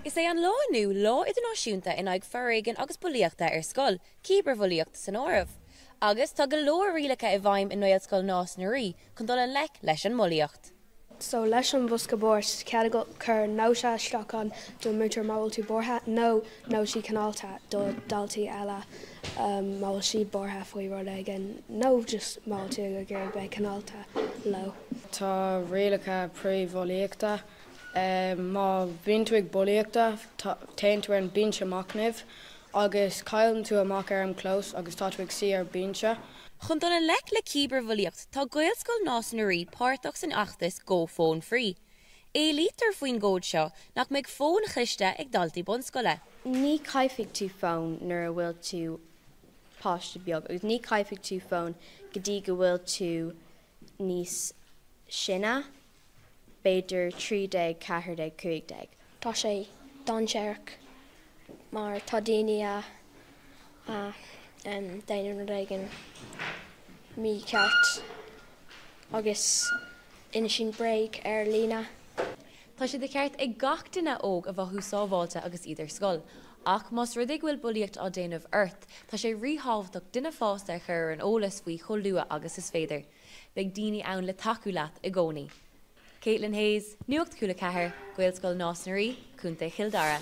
Is é an lá inniu Lá Idirnáisiúnta in aghaidh Foréigin agus Bulaíochta ar Scoil, cibearbhulaíocht san áireamh. Agus tá go leor rialacha i bhfeidhm i nGaelscoil Nás na Rí chun dul i ngleic leis an mbulaíocht. So leis an bhosca boird, cead agat cur nóta isteach ann don múinteoir má bhfuil tú buartha nó nótaí cineálta do daltaí eile má bhfuil siad buartha faoi rud éigin nó just má bhfuil tú ag iarraidh bheith cineálta leo. Tá rialacha frith-bhulaíochta. Má bhíonn tú ag bulaíochta, téann tú ar an binse machnaimh agus cailleann tú amach ar an clós agus tá tú ag suí ar binse. Chun dul i ngleic le cibearbhulaíocht, tá Gaelscoil Nás na Rí páirteach san fheachtas Go Phone Free. Éilítear faoin gcód seo nach mbeidh fóin chliste ag daltaí bunscoile. Ní chaithfidh tú fón nuair a bhfuil tú páiste beag agus ní chaithfidh tú fón go dtí go bhfuil tú níos sine, b'fhéidir 13, 14, 15. Tá sé dainséarach mar tá daoine a a déanann rud éigin mícheart agus insíonn bréag ar líne. Tá sé de cheart ag gach duine óg a mhothú sábháilte agus iad ar scoil. Ach más rud é go bhfuil bulaíocht á déanamh ort, tá sé ríthábhachtach duine fásta a chur ar an eolas faoi chomh luath agus is féidir. Beidh daoine ann le tacú leat i gcónaí. Caitlin Hayes, Nuacht Cúla 4, Gaelscoil Nás na Rí, Contae Chill Dara.